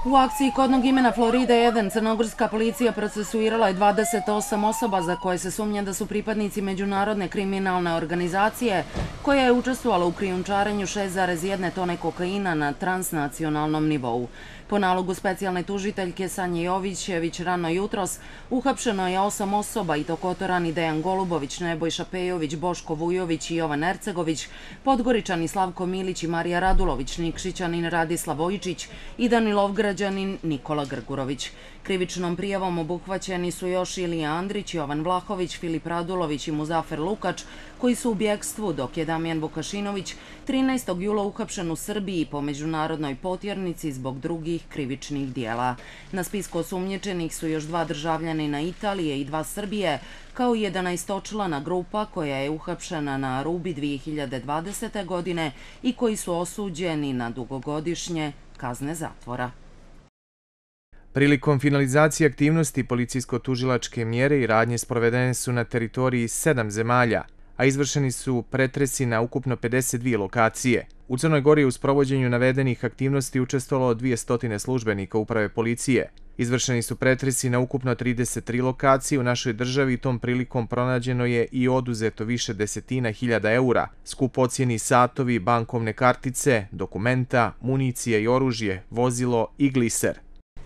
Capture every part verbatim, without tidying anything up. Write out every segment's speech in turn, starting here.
U akciji kodnog imena Florida jedan crnogorska policija procesuirala je dvadeset osam osoba za koje se sumnja da su pripadnici međunarodne kriminalne organizacije koja je učestvovala u krijumčarenju šest zarez jedna tone kokaina na transnacionalnom nivou. Po nalogu specijalne tužiteljke Sanje Jovićević rano jutros uhapšeno je osam osoba i to Kotorani Dejan Golubović, Nebojša Pejović, Boško Vujović i Jovan Ercegović, Podgoričani Slavko Milić i Marija Radulović, Nikšićanin Radislav Vojčić i Danilovgrađanin Nikola Grgurović. Krivičnom prijavom obuhvaćeni su još Ilija Andrić, Jovan Vlahović, Filip Radulović i Muzafer Lukač, koji su u bjekstvu, dok je Damjan Vukašinović trinaestog jula uhapšen u Srbiji po međunarodnoj potjernici zbog drugih krivičnih dijela. Na spisku osumnjičenih su još dva državljanina Italije i dva Srbije, kao i jedanaestočlana grupa koja je uhapšena na Arubi dvije hiljade dvadesete. godine i koji su osuđeni na dugogodišnje kazne zatvora. Prilikom finalizacije aktivnosti policijsko-tužilačke mjere i radnje sprovedene su na teritoriji sedam zemalja, a izvršeni su pretresi na ukupno pedeset dvije lokacije. U Crnoj Gori je u sprovođenju navedenih aktivnosti učestvovalo dvjesto službenika uprave policije. Izvršeni su pretresi na ukupno trideset tri lokacije u našoj državi i tom prilikom pronađeno je i oduzeto više desetina hiljada eura, skupocjeni satovi, bankovne kartice, dokumenta, municija i oružje, vozilo i gliser.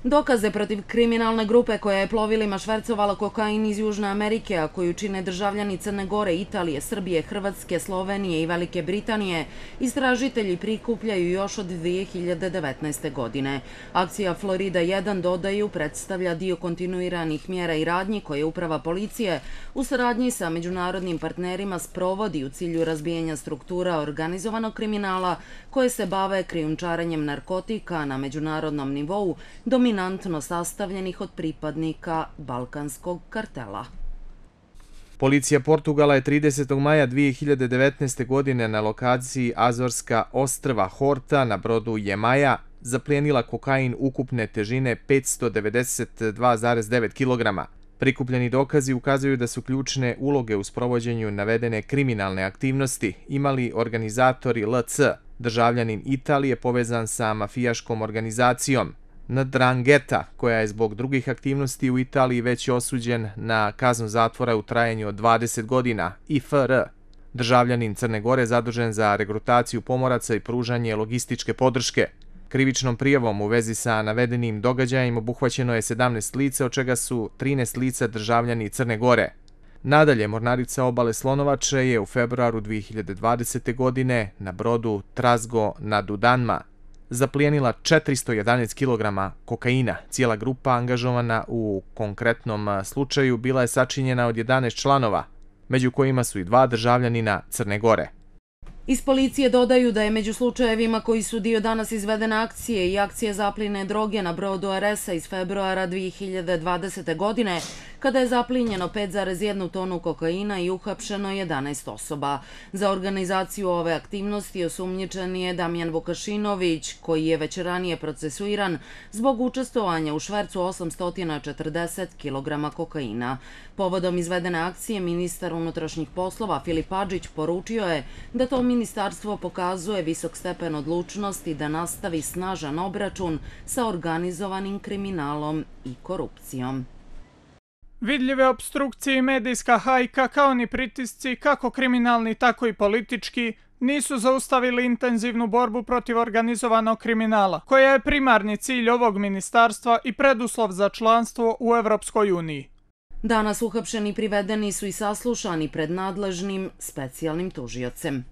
Dokaze protiv kriminalne grupe koja je plovilima švercovala kokain iz Južne Amerike, a koju čine državljani Crne Gore, Italije, Srbije, Hrvatske, Slovenije i Velike Britanije, istražitelji prikupljaju još od dvije hiljade devetnaeste. godine. Akcija Florida jedan, dodaju, predstavlja dio kontinuiranih mjera i radnji koje uprava policije u saradnji sa međunarodnim partnerima sprovodi u cilju razbijanja struktura organizovanog kriminala koje se bave krijumčarenjem narkotika na međunarodnom nivou, dominantno sastavljenih od pripadnika balkanskog kartela. Policija Portugala je tridesetog maja dvije hiljade devetnaeste. godine na lokaciji Azorska ostrva Horta na brodu Jemaja zaplijenila kokain ukupne težine petsto devedeset dva zarez devet kilograma. Prikupljeni dokazi ukazuju da su ključne uloge u sprovođenju navedene kriminalne aktivnosti imali organizatori L C, državljanin Italije povezan sa mafijaškom organizacijom Ndrangheta, koja je zbog drugih aktivnosti u Italiji već osuđen na kaznu zatvora u trajanju od dvadeset godina, i F R, državljanin Crne Gore zadužen za regrutaciju pomoraca i pružanje logističke podrške. Krivičnom prijavom u vezi sa navedenim događajima obuhvaćeno je sedamnaest lica, od čega su trinaest lica državljani Crne Gore. Nadalje, mornarica obale Slonovače je u februaru dvije hiljade dvadesete. godine na brodu Trasgo na Dudanma zaplijenila četiristo jedanaest kilograma kokaina. Cijela grupa angažovana u konkretnom slučaju bila je sačinjena od jedanaest članova, među kojima su i dva državljanina Crne Gore. Iz policije dodaju da je među slučajevima koji su dio danas izvedene akcije i akcije zaplijene droge na brodu Aresa iz februara dvije hiljade dvadesete. godine, kada je zaplinjeno pet zarez jedna tonu kokaina i uhapšeno jedanaest osoba. Za organizaciju ove aktivnosti osumnjičen je Damjan Vukašinović, koji je već ranije procesuiran zbog učestvovanja u švercu osamsto četrdeset kilograma kokaina. Povodom izvedene akcije, ministar unutrašnjih poslova Filip Adžić poručio je da to ministarstvo pokazuje visok stepen odlučnosti da nastavi snažan obračun sa organizovanim kriminalom i korupcijom. Vidljive opstrukcije i medijska hajka, kao ni pritisci, kako kriminalni, tako i politički, nisu zaustavili intenzivnu borbu protiv organizovanog kriminala, koja je primarni cilj ovog ministarstva i preduslov za članstvo u Evropskoj uniji. Danas uhapšeni privedeni su i saslušani pred nadležnim specijalnim tužiocem.